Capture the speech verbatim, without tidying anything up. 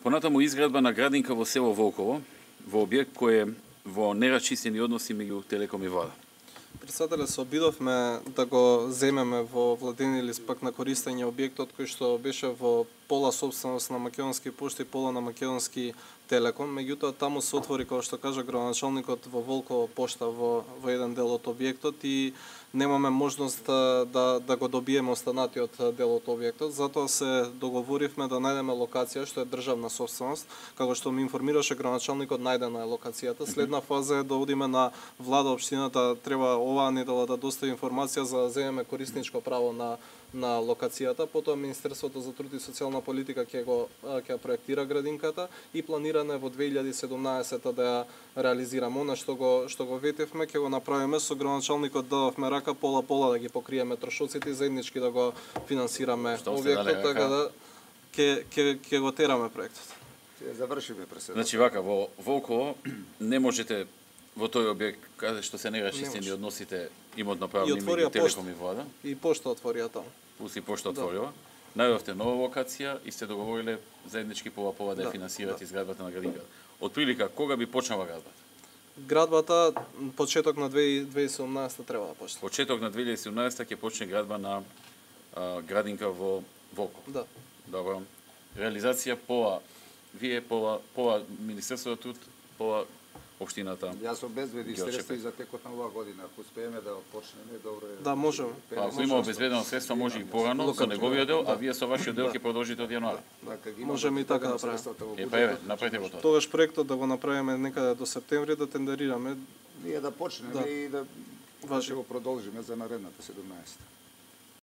Понатаму изградба на градинка во село Волково, во објект кој е во нерасчистени односи меѓу Телеком и Влада. Председателе, се обидовме да го земеме во владени лист пак на користење објектот кој што беше во пола собственост на Македонски пошти и пола на Македонски Телеком. Меѓутоа таму се отвори, како што кажа градоначалникот, во Волково пошта во, во еден дел од објектот и немаме можност да, да, да го добиеме останатиот дел од објектот. Затоа се договоривме да најдеме локација што е државна собственост. Како што ми информираше градоначалникот, најдена е локацијата. Следна фаза е да одиме на влада општината, треба оваа недела да достави информација за да земеме корисничко право на на локацијата, потоа Министерството за труд и социјална политика ќе го ќе проектира градинката и планиране во две илјади и седумнаесета да ја реализираме. Она што го што го ветевме ќе го направиме со градоначалникот, дадовме рака пола пола да ги покриеме трошоците и заеднички да го финансираме објектот, така да ќе ќе ќе го тераме проектот. Ќе завршиме преседател. Значи вака во Волково не можете во тој објект каде што се нерасчистени односите имотно-правни меѓу Телеком и Влада. И пошта отворија таму. Пусти пошта отворила. Најдовте нова локација и сте договориле заеднички пола пола да ја финансирате да. изградбата на градинката. Од прилика кога би почнала градбата? Градбата почеток на две илјади и седумнаесета треба да почне. Почеток на две илјади и седумнаесета ќе почне градба на а, градинка во Волково. Да. Добро. Реализација пола вие пола пола Министерството труд, пола општината. Јас обезбедив средства и за текот на оваа година. Ако успееме да почнеме, добро е. Да, можеме. Па, ако има обезбедено средства, може и порано со неговиот дел, а вие со вашиот дел ќе продолжите од јануари. Можеме и така да правиме. Е, па еве, направете го тоа. Тогаш проектот да го направиме некаде до септември, да тендерираме. Ние да почнеме и да ќе го продолжиме за наредната седумнаесета.